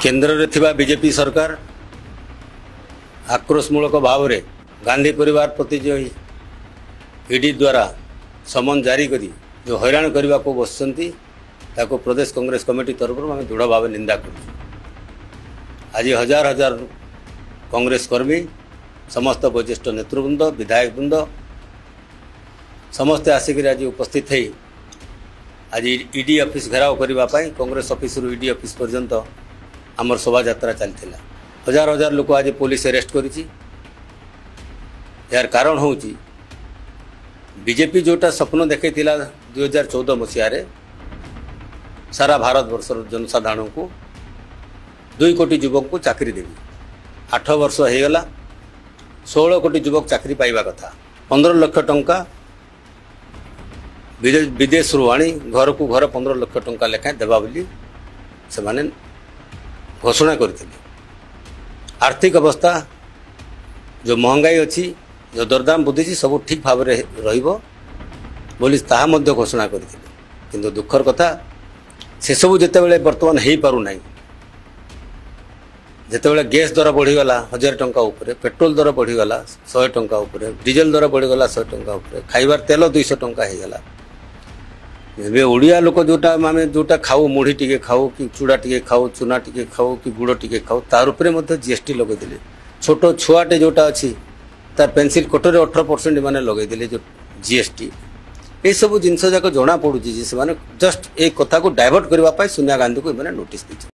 କେନ୍ଦ୍ରରେ ଥିବା ବିଜେପି ସରକାର ଆକ୍ରୋଶମୂଳକ ଭାବରେ ଗାନ୍ଧୀ ପରିବାର ପ୍ରତି ଯେଉଁ ଇଡି ଦ୍ୱାରା ସମନ ଜାରି କରି ଯେଉଁ ହଇରାଣ କରିବାକୁ ବସିଛନ୍ତି, ତାକୁ ପ୍ରଦେଶ କଂଗ୍ରେସ କମିଟି ତରଫରୁ ଆମେ ଦୃଢ଼ ଭାବେ ନିନ୍ଦା କରୁଛୁ। ଆଜି ହଜାର ହଜାର କଂଗ୍ରେସ କର୍ମୀ, ସମସ୍ତ ବରିଷ୍ଠ ନେତୃବୃନ୍ଦ, ବିଧାୟକବୃନ୍ଦ ସମସ୍ତେ ଆସିକରି ଆଜି ଉପସ୍ଥିତ ହେଇ ଆଜି ଇଡି ଅଫିସ୍ ଘେରାଉ କରିବା ପାଇଁ କଂଗ୍ରେସ ଅଫିସରୁ ଇଡି ଅଫିସ୍ ପର୍ଯ୍ୟନ୍ତ ଆମର ଶୋଭାଯାତ୍ରା ଚାଲିଥିଲା। ହଜାର ହଜାର ଲୋକ ଆଜି ପୋଲିସ ଆରେଷ୍ଟ କରିଛି। ଏହାର କାରଣ ହେଉଛି ବିଜେପି ଯେଉଁଟା ସ୍ୱପ୍ନ ଦେଖାଇଥିଲା 2014 ମସିହାରେ, ସାରା ଭାରତବର୍ଷର ଜନସାଧାରଣଙ୍କୁ 2 କୋଟି ଯୁବକଙ୍କୁ ଚାକିରି ଦେବି। 8 ବର୍ଷ ହେଇଗଲା, 16 କୋଟି ଯୁବକ ଚାକିରି ପାଇବା କଥା। 15 ଲକ୍ଷ ଟଙ୍କା ବିଦେଶରୁ ଆଣି ଘରକୁ ଘର 15 ଲକ୍ଷ ଟଙ୍କା ଲେଖାଏଁ ଦେବା ବୋଲି ସେମାନେ ଘୋଷଣା କରିଥିଲେ। ଆର୍ଥିକ ଅବସ୍ଥା ଯେଉଁ ମହଙ୍ଗାଇ ଅଛି, ଯେଉଁ ଦରଦାମ ବୃଦ୍ଧିଛି, ସବୁ ଠିକ୍ ଭାବରେ ରହିବ ବୋଲି ତାହା ମଧ୍ୟ ଘୋଷଣା କରିଥିଲେ। କିନ୍ତୁ ଦୁଃଖର କଥା, ସେସବୁ ଯେତେବେଳେ ବର୍ତ୍ତମାନ ହେଇପାରୁନାହିଁ, ଯେତେବେଳେ ଗ୍ୟାସ୍ ଦର ବଢ଼ିଗଲା 1000 ଟଙ୍କା ଉପରେ, ପେଟ୍ରୋଲ ଦର ବଢ଼ିଗଲା 100 ଟଙ୍କା ଉପରେ, ଡିଜେଲ ଦର ବଢ଼ିଗଲା 100 ଟଙ୍କା ଉପରେ, ଖାଇବାର ତେଲ 200 ଟଙ୍କା ହେଇଗଲା। ଏବେ ଓଡ଼ିଆ ଲୋକ ଯେଉଁଟା ଆମେ ଯେଉଁଟା ଖାଉ, ମୁଢ଼ି ଟିକେ ଖାଉ କି ଚୁଡ଼ା ଟିକେ ଖାଉ, ଚୁନା ଟିକେ ଖାଉ କି ଗୁଡ଼ ଟିକେ ଖାଉ, ତାର ଉପରେ ମଧ୍ୟ ଜିଏସ୍ଟି ଲଗେଇଦେଲେ। ଛୋଟ ଛୁଆଟେ ଯେଉଁଟା ଅଛି ତାର ପେନ୍ସିଲ୍ କଟରେ 18% ଏମାନେ ଲଗେଇଦେଲେ ଯେଉଁ ଜିଏସ୍ଟି। ଏସବୁ ଜିନିଷ ଯାକ ଜଣାପଡ଼ୁଛି ଯେ ସେମାନେ ଜଷ୍ଟ ଏଇ କଥାକୁ ଡାଇଭର୍ଟ କରିବା ପାଇଁ ସୋନିଆ ଗାନ୍ଧୀକୁ ଏମାନେ ନୋଟିସ୍ ଦେଇଛନ୍ତି।